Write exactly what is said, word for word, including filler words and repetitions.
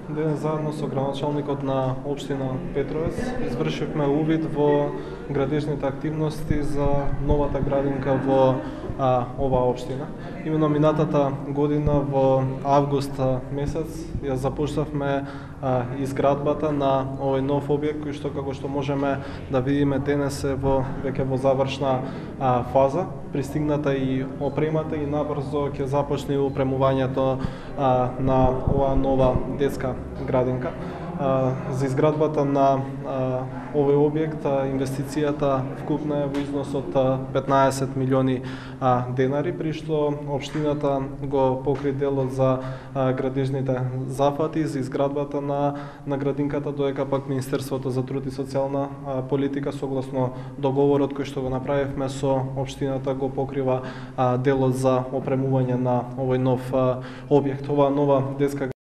Денес заедно со градоначалникот на општина Петровец извршивме увид во градежните активности за новата градинка во а, оваа општина. Именно минатата година во август месец ја започнавме а, изградбата на овој нов објект кој што како што можеме да видиме денес е во веќе во завршна а, фаза. Пристигната и опремата и набрзо ќе започне опремувањето а, на оваа нова детска градинка. А, за изградбата на а, овој објект а, инвестицијата вкупна е во износ од петнаесет милиони а, денари, при што општината го покри делот за а, градежните зафати за изградбата на на градинката, додека пак Министерството за труд и социјална а, политика согласно договорот кој што го направивме со општината го покрива а, делот за опремување на овој нов а, објект. Оваа нова детска